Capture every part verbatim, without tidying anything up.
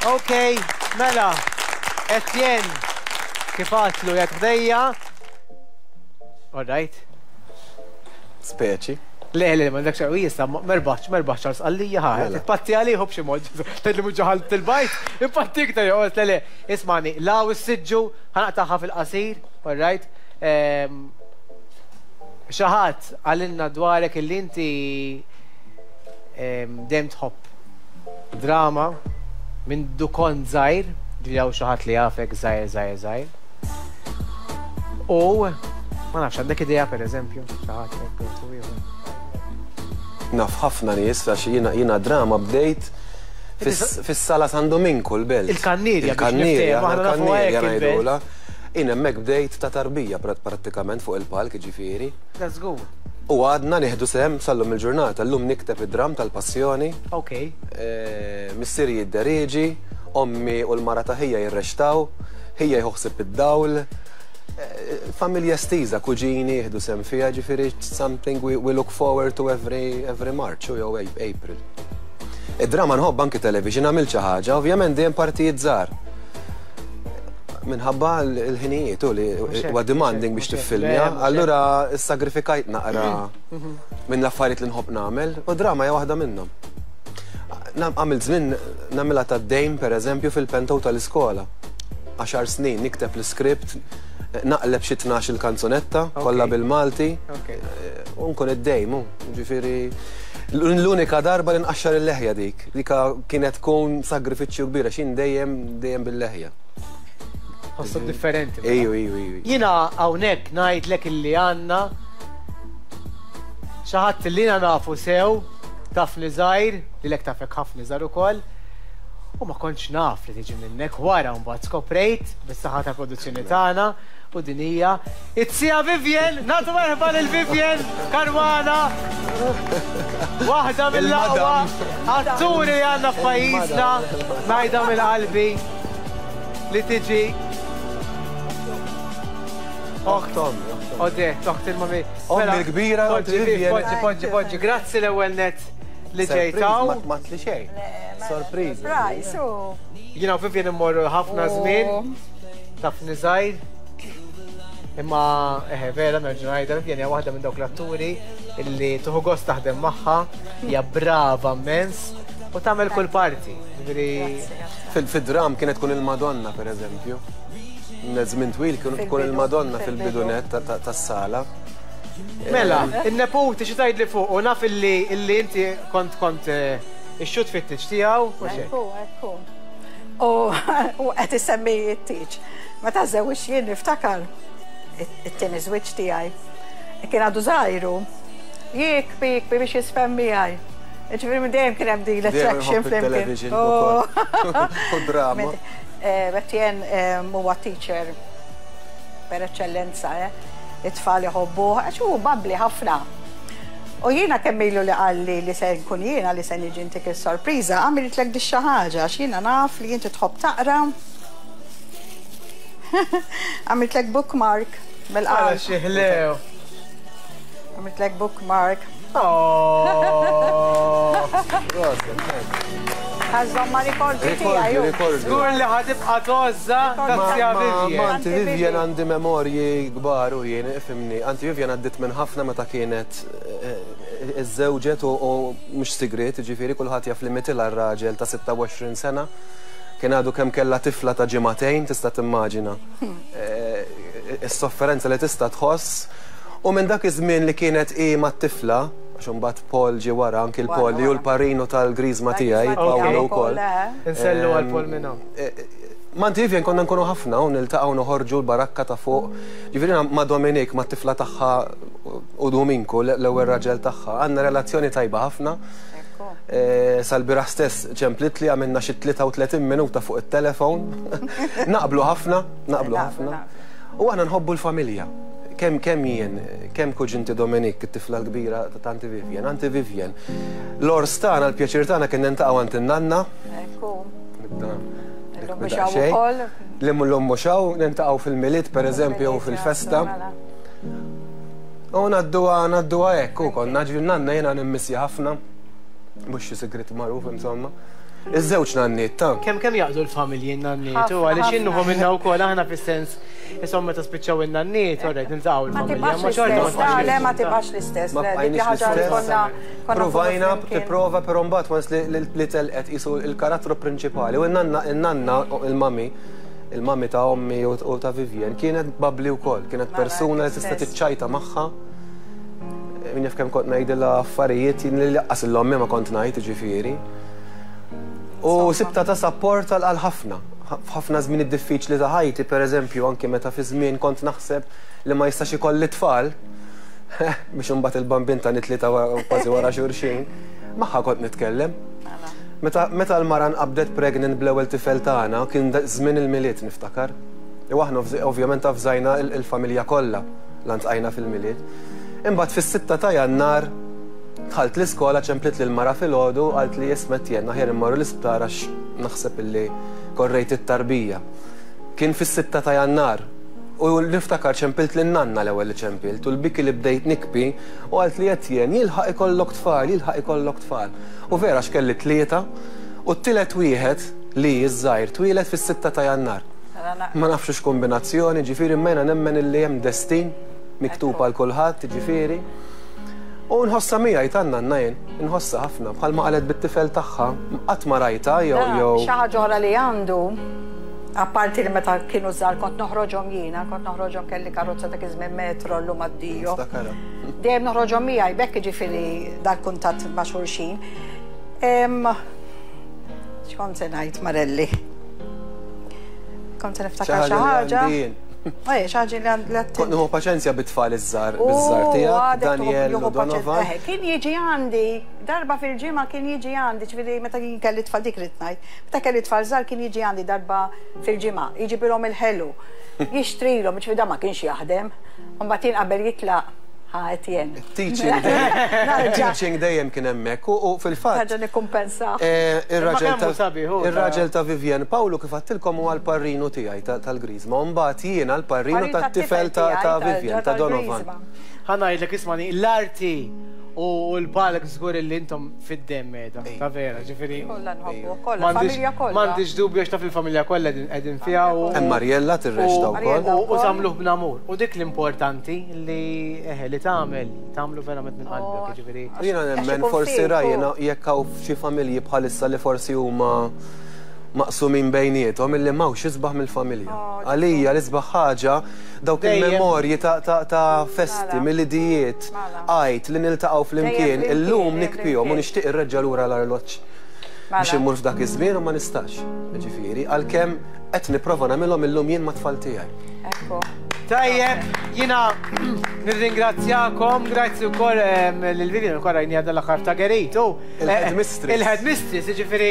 Ok, mela, Etienne, kif għatlu jgħat ħdejja. All right. Speċi. Le, le, ma dak xaqwi jista, merbaċ, merbaċ Charles għallija ħa, Mela. Patti għalihu b'xi mod, tgħidli mhux ġaħal til-bajt, impatti iktar jew le, le, ismani, law is-siġġu, ħa naqtagħha fil-qasir, all right. Ehm, Xi ħadd qalilna dwarek illi inti ehm, dejjem tħobb drama minn dukon żgħir, ġieli hawn xi ħadd li jafek żgħir żgħir żgħir. U ma nafx, għandek idea, per eżempju, xi ħadd hekk u ieħor? Naf ħafna nies, għax jiena jiena drama bdejt fis- fis-sala San Dominku l-Belt. Il-Kannirja, biex Il-Kannirja, niftehmu, aħna nafu il-Kannirja hekk il-Belt. ngħidulha. Jien hemmhekk bdejt ta' tarbija prat- prattikament fuq il-palk, ġifieri. Let's go. U għadna nieħdu sehem sal-lum il-ġurnata. Llum nikteb id-dram tal-passjoni. Ok. Eh, Missieri jidderieġi, ommi u l-mara ta' ħija jirreċtaw, ħija jieħu ħsieb id-dawl. Eh, Familja estiża, kuġini jieħdu sehem fiha, ġifieri something we, we look forward to every, every March u jew April. Id-drama nħobb, anki television għamilt xi ħaġa, ovvjament dejjem partijiet żgħar. Minħabba l-ħinijiet u li Mhux hekk, huwa demanding mhux biex hekk, mhux hekk. tiffilmja, Le, mhux allura sagrifikajt naqra minn l-affarijiet li nħobb nagħmel u drama hija waħda minnhom. Nam- Għamilt żmien nagħmilha tad-dejm, pereżempju, fil-panto tal-iskola. Għaxar snin nikteb l-iskript, naqleb xi tnax il-kanzunetta kollha bil-Malti. Ok. U nkun id-dejm, u, ġifieri l-unika darba li nqaxxar il-leħja dik, dika kienet tkun sagrifiċċju kbira, xin dejjem dejjem bil-leħja. Ħossu differenti, mela. Ejju, ejju, ejju. Jiena hawnhekk ngħidlek illi għandna xi ħadd li jiena nafu sew, tafni żgħir, li lek tafek ħafna żgħar ukoll, u ma kontx naf li tiġi minnek, wara mbagħad skoprejt bis-saħħa ta' produzzjoni tagħna, u din hija it-sija Vivien, nagħtu merħba lil Vivien Caruana. Waħda mill-aqwa atturi li għandna f'pajjiżna, ngħidha mill-qalbi, li tiġi Oħt ommi, oħt ommi. Odette, oħt il-mami. Ommi Mela, l-kbira, poġġi, Vivien. Poġġi, poġġi, poġġi. Grazzi l-ewwel net li Surprise, ġejtaw. Ma ma tli xejn. Sorpriż. Surprise, u. Jiena u Vivien immorru ħafna Oh. żmien, tafni żgħir. Imma eħe, vera nerġa' ngħidha, Vivien hija waħda minn dawk l-atturi illi tieħu gost taħdem magħha, hija brava immens u tagħmel kull parti. Ġifieri Fil-dram kienet tkun il-Madonna, per eżempju. Żmien twil kien tkun Fil-bidu, il-Madonna fil-bidu. fil-bidunet ta- ta- tas-sala. Mela, il-neputi xi tgħidli fuq u naf illi illi inti kont kont eh, ix-xut fit-tieġ tiegħu u xejn. Ekku, ekku. U u qed isemmi t-tieġ. Meta żewġ jien niftakar it-tieni żwieġ tiegħi. Kien għadu żgħiru. Jikbi, jikbi biex jiżfen miegħi. Ġifieri minn dejjem kien hemm din l-attraction Dejjem iħobb flimkien. il-television Oh. ukoll. U drama. Eh, Etienne eh, huwa teacher per eccellenza, eh. It-tfal iħobbuh, għax hu bubbly ħafna. U jiena kemm ilu li qalli li se nkun jiena li se niġi ntik il-sorpriża, għamiltlek di xi ħaġa, għax jiena naf li inti tħobb taqra. Għamiltlek bookmark Għala mill-qalb. xi ħlew. Għamiltlek bookmark. Oh. Ħa żżommha rikordi Rikordi, tiegħi. rikordi. Żgur li ħa tibqa' tgħożżha ta' Ma Vivien. Auntie Vivian għandi memorji kbar u jien, ifhimni. Auntie Vivian għaddit minn ħafna meta kienet eh, iżżewġet u u mhux sigriet, ġifieri kulħadd jaf li mitilha r-raġel ta' sitta u għoxrin sena. Kien għadu kemm kellha tifla ta' ġimagħtejn, tista' timmaġina. Eh, Is-sofferenza li tista' tħoss. U minn dak iż-żmien li kienet hi mat-tifla, għax imbagħad Paul ġie wara, anki l-Paul li hu l-parrinu tal-griżma tiegħi, Paolo wkoll. Insellu għal Paul minnhom. Ma' Auntie Vivian konna nkunu ħafna u niltaqgħu, noħorġu l-barakka ta' fuq. Ġifieri ma' Dominik, ma' tifla tagħha u Dominku, l-ewwel raġel tagħha, għandna relazzjoni tajba ħafna. Eh, Sal-bieraħ stess ċemplit li għamilna xi tlieta u tletin minuta fuq it-telefon. Naqblu ħafna, naqblu ħafna. U aħna nħobbu l-familja. Kemm kemm jien, kemm kuġinti Dominik, it-tifla l-kbira ta' Auntie Vivian, Auntie Vivian. L-għors tagħna, l-pjaċir tagħna kien niltaqgħu għand in-nanna. Ekku. Nibda Illum nibda mhux hawn xejn. ukoll. Li l-lum mhux hawn, niltaqgħu fil-Milied, per eżempju, u fil-festa. Mela. U ngħadduha ngħadduha hekk u konna ġifieri nanna jiena nimmissja ħafna. Mhux xi sigrit magħruf, insomma. Iż-żewġ nanniet ta' Kemm kemm jaqdu l-familji n-nanniet u għaliex innuħu minna wkoll aħna fis-sens insomma meta spiċċaw in-nanniet orrejt niltaqgħu l-familja. Ma xorta ma le ma tibqax l-istess. Ma bqajniex l-istess. Provajna tipprova però mbagħad once li telqet qisu l-karattru prinċipali u n-nanna n-nanna il-mami il-mami ta' ommi u ta' Vivian kienet bubbly wkoll, kienet persuna li tista' tiċċajta magħha. Min jaf kemm kont ngħidilha affarijiet li laqqas l-ommi ma kont ngħid ġifieri. U sibta ta' support għal ħafna. F'ħafna żmien diffiċli ta' ħajti, pereżempju, anke meta fi żmien kont naħseb li ma jistax ikolli tfal, biex imbagħad il-bambin ta' tlieta kważi wara xulxin, magħha kont nitkellem. Meta l-mara nqabdet pregnant bl-ewwel tifel tagħna kien żmien il-Milied niftakar. U aħna ovvjament avżajna il-familja kollha lantqajna fil-Milied. Imbagħad fis-sitta ta' Jannar dħalt l-iskola ċemplit lil mara filgħodu qalt li isma' Etienne aħjar immorru l-isptar għax naħseb illi korrejt it-tarbija. Kien fis-sitta ta' Jannar u niftakar ċempilt lin nanna l-ewwel li ċempilt u l-biki li bdejt nikbi u qalt li Etienne jilħaq ikollok tfal, jilħaq ikollok tfal. U vera x'kelli tlieta u t-tielet wieħed li ż-żgħir twieled fis-sitta ta' Jannar. Ma nafx x'kombinazzjoni, ġifieri imma nemmen illi hemm destin miktub għal kulħadd, ġifieri. U nħossa miegħi tan-nanna jien, nħossa ħafna, bħalma qalet bit-tifel tagħha, qatt ma rajta jew jew. Xi ħaġa oħra li għandu, apparti li meta kienu żgħar kont noħroġhom jiena, kont noħroġhom kelli karozza dak iż-żmien metro llum addio. Dejjem noħroġhom miegħi bekk jiġifieri dal-kuntatt ma' xulxin. X'kont se ngħid Marelli? Kont se niftakar xi ħaġa. Ej, xi ħaġa li għand Kont nieħu paċenzja bit-tfal iż-żgħar, biż-żgħar tiegħek, Daniel u Donovan. Kien jiġi għandi, darba fil-ġimgħa kien jiġi għandi, ġifieri meta kien kelli tfal dik rid ngħid. Meta kelli tfal żgħar kien jiġi għandi darba fil-ġimgħa, jiġibilhom il-ħelu, jixtrilhom, ġifieri dan ma kienx jaħdem. Mbagħad jien qabel jitlaq ħa Etienne. Teaching teaching dejjem kien hemmhekk u fil-fatt. Ħaġa nikkumpensa. Ir-raġel ta' Vivian Pawlu kif għattilkom huwa l-parrinu tiegħi tal-Griżma, u mbagħad jiena l-parrinu tat-tifel ta' Vivian ta' Donovan. Ħa ngħidlek ismani, l-arti u l-palk żgur li intom fid-demm qiegħda, ta' vera, ġifieri. Kollha nħobbu, kollha, familja kollha. M'għandix dubju għax taf il-familja kollha qegħdin fiha u. Hemm Mariella tirreċta wkoll. U tagħmluh b'namur. U dik l-importanti li eħe li tagħmel, tagħmlu verament minn qalbek, ġifieri. Jiena nemmen forsi rajna jekk hawn xi familji bħalissa li forsi huma maqsumin bejniethom illi m'hawnx isbaħ mill-familja. Għalija l-isbaħ ħaġa dawk il-memorji ta' festi, milidijiet, għajt li niltaqgħu flimkien, illum nikpihom u nixtieq irreġġa' lura l-arloġġ biex immur f'dak iż-żmien u ma nistax. Ġifieri, għalkemm qed nipprova nagħmilhom illum jien mat-tfal tiegħi. Tajjeb, jiena nirringrazzjakom, grazzi wkoll lil Vivian ukoll rajniha dal-aħħar ta' Gerit. Il-headmistress. Il-headmistress, jiġifieri.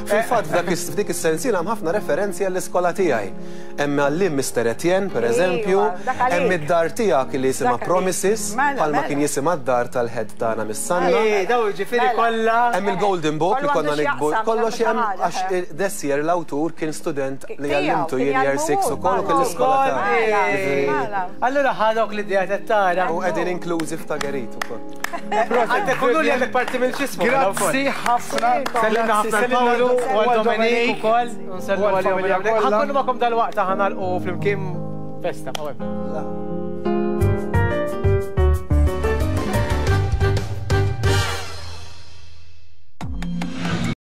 Fil-fatt f'dik is-sensiela hemm ħafna referenzi għall-iskola tiegħi. Hemm għallim Mister Etienne, pereżempju, hemm id-dar tiegħek li jisimha Promises, bħalma kien jisimha d-dar tal-head tagħna mis-Sanna. Daw jiġifieri kollha. Hemm il-Golden Book li konna nikbu, kollox hemm għax this year l-awtur kien student li għallimtu jien year six ukoll u kien l-iskola tagħna. Allura ħadok l-idea tara. U qegħdin inklużi f'ta' Gerit ukoll. Proset, ikunu li għandek parti mill-ġismu. Grazzi ħafna. Sellimna ħafna l-Pawlu u għal Dominik ukoll. Nsellu għal-familja. Ħankunu magħkom dal-waqt ħanalqu flimkien festa.